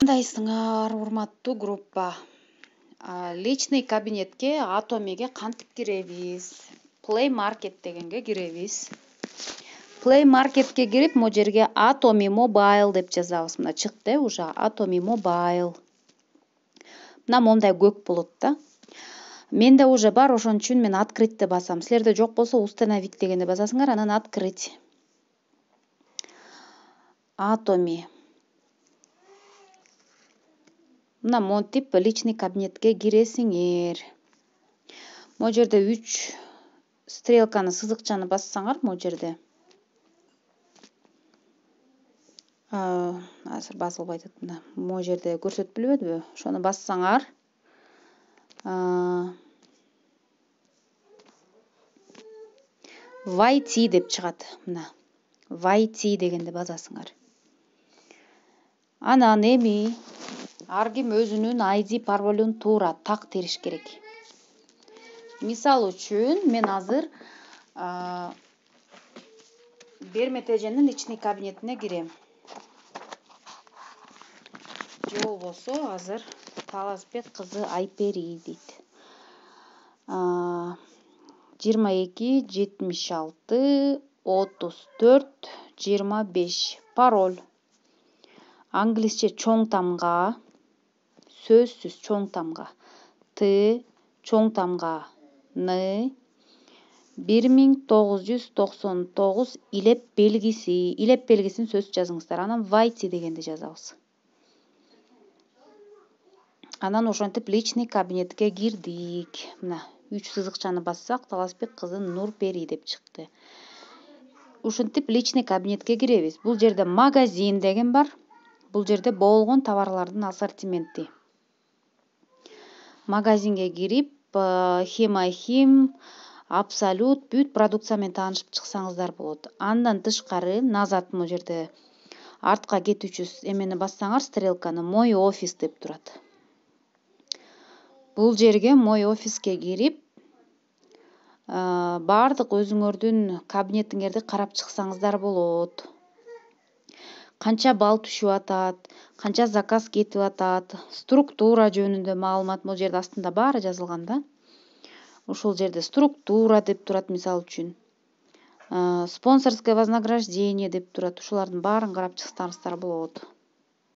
Кандайсыңар, урматтуу группа? Личный кабинетке Atomi'ге кантип киребиз? Play Market дегенге киребиз. Play Marketке кирип, могу жерге Atomy Mobile деп жазабыз. Мына чыкты уже Atomy Mobile. Мына мондай көк болот да. Менде уже бар, ошон үчүн мен открытьты басам. Силерде жок болсо установить дегенде басасыңар, анан открыть. Atomy. Мына монтип личный кабинетке киресиңер. Могу жерде 3 стрелканы, сызыкчаны бассаңар, могу жерде. Азыр басылбай атат мына. Могу жерде көрсөтүп билбедиби? Ошону бассаңар, войти деп чыгат. Мына войти дегенде басасыңар. Анан эми ар ким өзүнүн ID паролун туура так териш керек. Мисал үчүн мен азыр Бермет эженин личный кабинетине кирем. Же болбосо азыр Таласбек кызы Айпери дейт. 22 76 34 25 пароль. Англисче чоң тамга, сөзсүз чоң тамга. Т чоң тамга Н 1999 илеп белгиси. Илеп белгисин сөзсүз жазыңыздар. Анан войти дегенди жазабыз. Анан ошентип личный кабинетке кирдик. Мына 3 сызыкчаны бассак, Таласбек кызы Нурпери деп чыкты. Ушинтип личный кабинетке киребиз. Бул жерде магазин деген бар. Бул жерде болгон товарлардын ассортименти. Магазинге кирип, Химахим, Абсолют бүт продукция менен таанышып чыксаңыздар болот. Андан тышкары назад могу жерде артка кетүүчү эмени бассаңар, стрелканы, мой офис деп турат. Бул жерге мой офиске кирип, бардык өзүңөрдүн кабинетиңерди карап чыксаңыздар болот. Канча балл түшүп атат, канча заказ кетип атат, структура жөнүндө маалымат могу жерде астында баары жазылган да. Ушул жерде структура деп турат, мисал үчүн. Спонсорское вознаграждение деп турат. Ушулардын баарын карап чыксаңыздар болот.